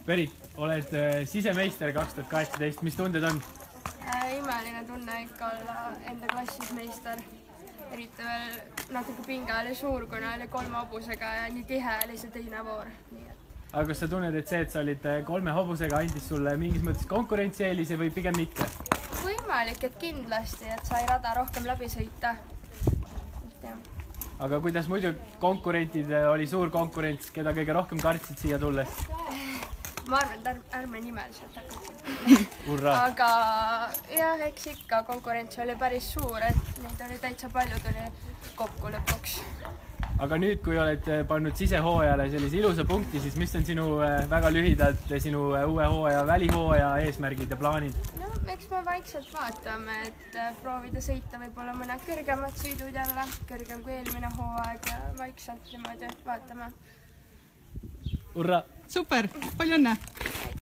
Berit, oled sisemeister 2018, mis tunded on? Imeline tunne ikka olla enda klassis meister. Eriti veel natuke pinge oli suur, kuna oli 3 hobusega ja nii tihe oli see teine voor. Aga kas sa tunned, et see, et sa olid 3 hobusega, andis sulle mingis mõttes konkurentsieelise või pigem mitte? Võimalik, et kindlasti, et sai rada rohkem läbi sõita. Aga kuidas muidu konkurentid, oli suur konkurents, keda kõige rohkem kartsid siia tulles? Ma arvan, et ärme nimeliselt Urra! Aga jah, eks ikka konkurents oli päris suur, et neid oli täitsa palju, tuli kokku lõpuks. Aga nüüd, kui oled pannud sisehooajale sellise ilusa punkti, siis mis on sinu väga lühidalt sinu uue hooaja, välihooaja eesmärgid ja plaanid? No, eks me vaikselt vaatame, et proovida sõita võib-olla mõned kõrgemad sõidud jälle, kõrgem kui eelmine hooaeg ja vaikselt niimoodi vaatame. Urra! Super, palju õnne!